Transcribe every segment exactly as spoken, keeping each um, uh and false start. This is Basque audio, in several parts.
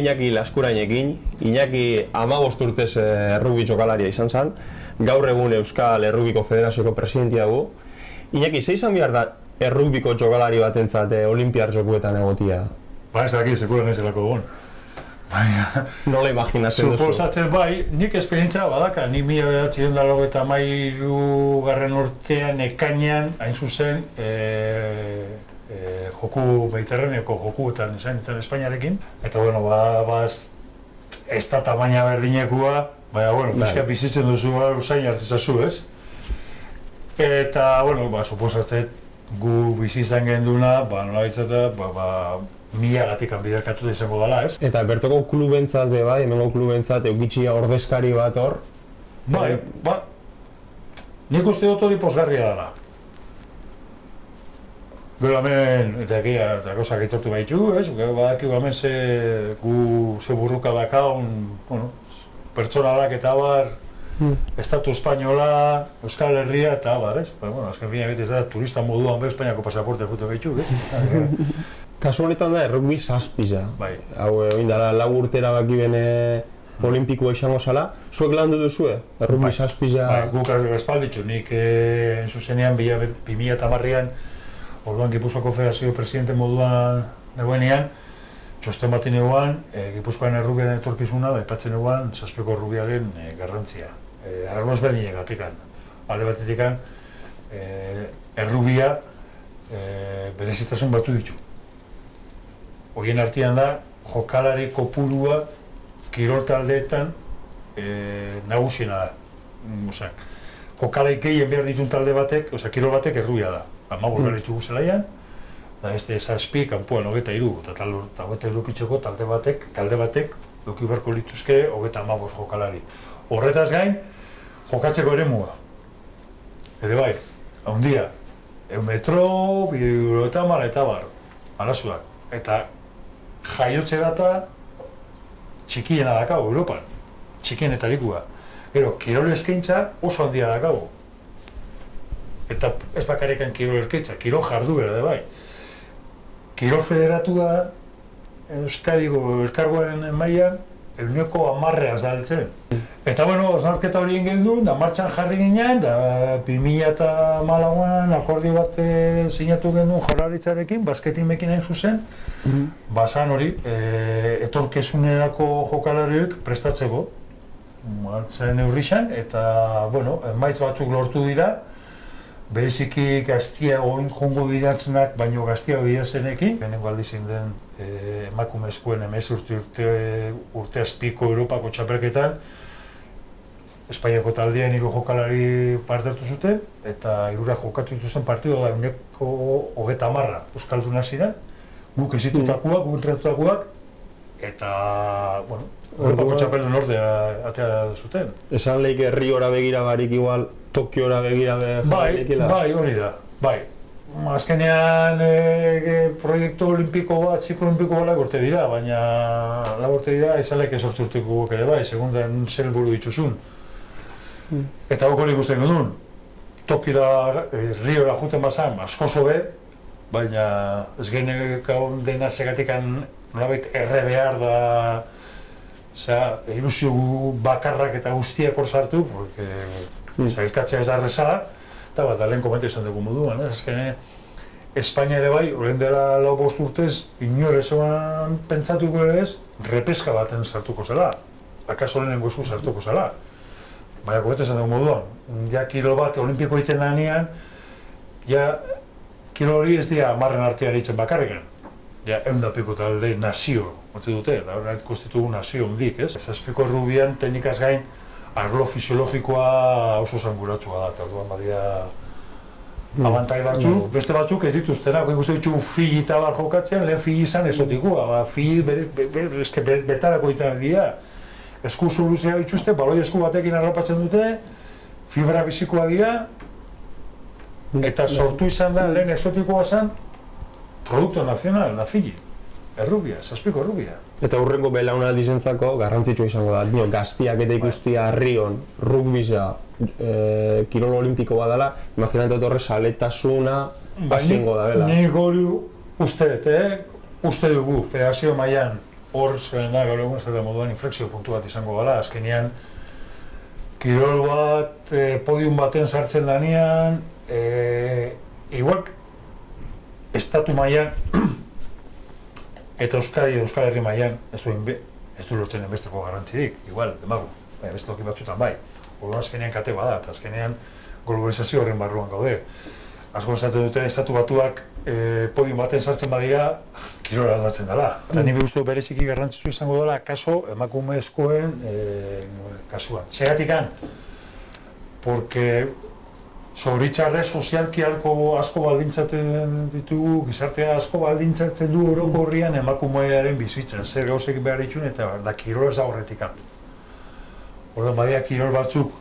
Iñaki Laskurainekin. Iñaki hamabost urtez errugbi jokalaria izan zen. Gaur egun Euskal Errugbiko Federazioko presidentia dugu. Iñaki, ze izan behar da errugbiko jokalari batentzat olimpiar jokuetan egotia? Ba, ez dakit, sekuran ez delako egon. Nola imaginatzen duzu? Suposatzen bai, nik esperientzia badaka, nik mila bederatziehun eta laurogeita hamairu garren urtean ekainean, hain zuzen, joku mediterraneoko jokuetan izan nintzen Espainiarekin. Eta, bueno, ba, ez da tamaina berdinekua, baina, bueno, pixka bizitzen duzu usain hartzizazu, ez? Eta, bueno, ba, suposatzen gu bizi izan genduna, ba, nola bitzata, ba, ba, milagatik biderkatu da izango dela, ez? Eta bertoko klubentzat be bai, hemengo klubentzat eukitxia ordezkari bat hor? Bai, ba, nik uste dut hori posgarria dela. Gero hemen, eta egia, eta gauzak aitortu baitu, ez? Gero badakigu hemen ze gu ze burruka dakaun, bueno, pertsonalak eta bar, Estatu Espainola, Euskal Herria eta bar, ez? Ba, bueno, azken fina ez da, turista moduan be Espainiako pasaporte jute baitu, ez? Kasu honetan da, errugbi zazpiza. Bai. Hau, egin dara, lau urtera baki bene olimpikoa izango zala. Zuek landu duzue, errugbi zazpiza? Bai, guk espalditxu. Nik, en zuzenean, bi mila eta hamarrean, orduan Gipuzkoako Federazio presidente moduan negoenean, txosten bat eguan, Gipuzkoaren errubiaren etorkizuna, da aipatzen eguan, zazpiko errubiaren garrantzia. Arlo ezberdinegatikan. Alde batetikan, errubia berezitasun batzu ditu. Horien artean da, jokalari kopurua kirol taldeetan nagusiena da. Jokalari gehien behar ditun talde batek, oza, kirol batek errubia da. Hamabost behar ditugu zelaian, da beste zazpi, kanpoan hogeita hiru, eta hogeita hiru pitxeko talde batek, talde batek, doki beharko lituzke hogeita hamabost jokalari. Horretaz gain, jokatzeko ere mua. Ere bai, handia, eun metro, bideo eta mara eta bar, arazuak. Eta jaiotze data txikiena dakago Europan, txikienetarikua. Gero, kirol eskaintza oso handia dakago. Eta ez bakarrikan kirol eskaintza, kirol jarduera da bai. Kirol federatua Euskadiko elkargoaren mailan ehuneko hamarrean zaltzen. Eta, bueno, osnarketa horien gendu, da martxan jarri ginen, da bi mila eta hamalauan akordio bat sinatu genduen Jaurlaritzarekin, basketimekin hain zuzen, bazan hori, etorkizunerako jokalariek prestatzeko, martzen neurrixan, eta, bueno, emaitz batzuk lortu dira, bereziki gaztiago jongo diratzenak, baino gaztiago dirazenekin. Benengo aldizin den emakumezkoen hemezortzi urte azpiko Europako txapelketan, Espainiako taldean hiru jokalari parte hartu zuten, eta hirurak jokatu dituzten partido da ehuneko hogeita hamarra euskalduna ziren, guk ezitutakoak, guk entrenatutakoak, eta, bueno, Europako txapeldun ordea atea zuten. Esan lehik Riora begira barik igual, Tokiora begira begira. Bai, hori da, bai. Azkenean proiektu olimpiko bat, ziklo olimpiko bat lagurte dira, baina lagurte dira izalek esortzi urteko guk ere bai, segundan zer helburu dituzun. Eta guk hori ikusten genuen, Tokira, Riora juten bazan, asko zobe, baina ez genekau dena segatikan nolabait erre behar da, ilusio bakarrak eta guztiak hor sartu, porque zailkatzea ez da errezala, eta bat, lehen komentu izan dugu moduan, azkene Espainia ere bai, horren dela lau bost urtez, inor ezoan pentsatuko ere ez, repeska baten sartuko zela, akaso lehenengo esku sartuko zela. Baina komentu izan dugu moduan, ja kirol bat olimpiko egiten lanean, ja kirol hori ez dira hamarren artean egiten bakarrikan. Ja, eundapiko talde nazio, batze dute, da konstitugu nazio hundik, ez? Zazpiko errubian, teknikaz gain, arlo fisiologikoa oso zanguratsua da, eta orduan badia abantai batzuk, beste batzuk ez dituztena, ikusten ditugu fili eta bar jokatzen, lehen fili izan esotikoa, fili betarako egiten dira. Esku soluzia dituzte, baloi esku batekin arropatzen dute, fibra bizikoa dira, eta sortu izan da, lehen esotikoa zen, produkto nazional, da fili, errubia, zazpiko errubia. Eta hurrengo belaunaldi zentzako garrantzitsua izango da, dio, gaztiak eta ikustia Rion, rugbiza, kirol olimpiko bat dela, imaginatu horre saletasuna hasingo da bela. Nik hori uste dut, uste dugu, federazio mailan hor zena gaur egun ez da moduan inflexio puntu bat izango gala, azkenean kirol bat, eh, podium baten sartzen danean, eh, igual estatu mailan eta Euskadi Euskal Herri mailan ez du ez du lortzen enbesteko garrantzirik, igual, demagu, bai, beste toki batzuetan bai. Orduan azkenean kate bada, eta azkenean globalizazio horren barruan gaude. Asko esaten dute estatu batuak eh, podium baten sartzen badira, kirola aldatzen dela. Eta nire uste bereziki garrantzitsu izango dela kaso emakumezkoen eh, kasuan. Segatikan, porque zoritxarrez sozialki asko, asko baldintzaten ditugu, gizartea asko baldintzatzen du orokorrian emakumearen bizitza, zer gauzek behar ditun eta da kirola ez da horretikat. Orduan badia kirol batzuk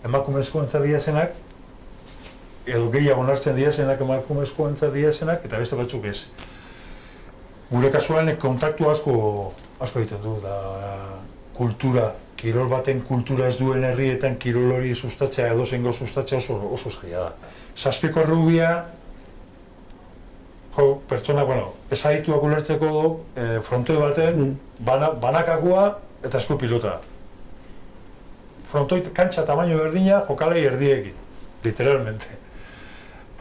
emakumezkoentzat diazenak, edo gehiago onartzen diazenak emakumezkoentzat diazenak, eta beste batzuk ez. Gure kasuan kontaktu asko asko egiten du, da kultura, kirol baten kultura ez duen herrietan kirol hori sustatzea edo zengo sustatzea oso, oso zaila da. Zazpiko errubia, jo, pertsona, bueno, ezagituak ulertzeko du, eh, frontoi baten, bana, banakakoa eta esku pilota. Frontoi kantxa tamaino berdina jokalei erdiekin, literalmente.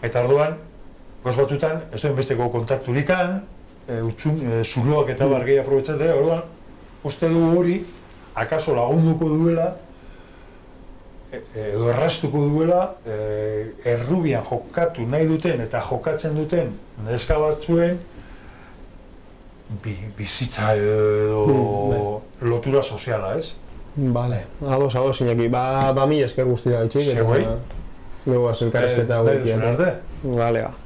Eta orduan, goz batzutan, ez duen besteko kontakturikan, e, utxun, e, zuloak eta bargei aprobetzatea, orduan, uste du hori, akaso lagunduko duela, e, edo errastuko duela, e, errubian jokatu nahi duten eta jokatzen duten neska batzuen bi, bizitza edo mm, lotura soziala, ez? Vale, ados, ados, Iñaki, ba, ba mi esker guztira gaitxik, eta Segui? luego elkarrezketa Eh, hauekin. arte? Vale, ba.